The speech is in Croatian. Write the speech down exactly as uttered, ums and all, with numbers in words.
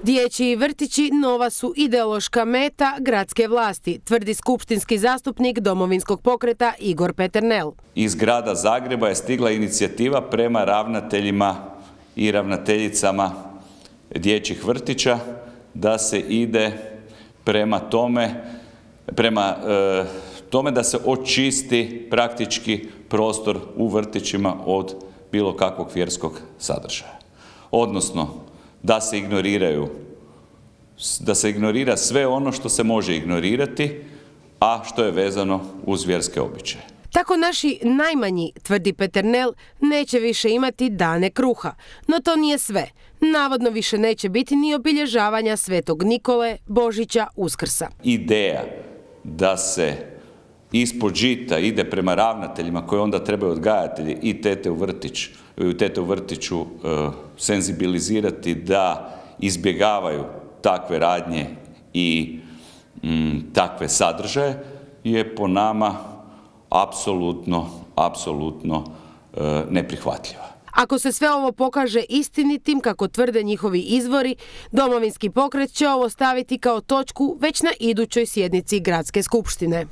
Dječji vrtići nova su ideološka meta gradske vlasti, tvrdi skupštinski zastupnik Domovinskog pokreta Igor Peternel. Iz grada Zagreba je stigla inicijativa prema ravnateljima i ravnateljicama dječjih vrtića da se ide prema tome, prema e, tome da se očisti praktički prostor u vrtićima od bilo kakvog vjerskog sadržaja. Odnosno, da se ignoriraju, da se ignorira sve ono što se može ignorirati, a što je vezano uz vjerske običaje. Tako naši najmanji, tvrdi Peternel, neće više imati dane kruha. No to nije sve. Navodno više neće biti ni obilježavanja Svetog Nikole, Božića, Uskrsa. Ideja da se ispod žita ide prema ravnateljima koji onda trebaju odgajatelji i tete u vrtić, tete u vrtiću uh, senzibilizirati da izbjegavaju takve radnje i mm, takve sadržaje je po nama apsolutno, apsolutno uh, neprihvatljiva. Ako se sve ovo pokaže istinitim, kako tvrde njihovi izvori, Domovinski pokret će ovo staviti kao točku već na idućoj sjednici Gradske skupštine.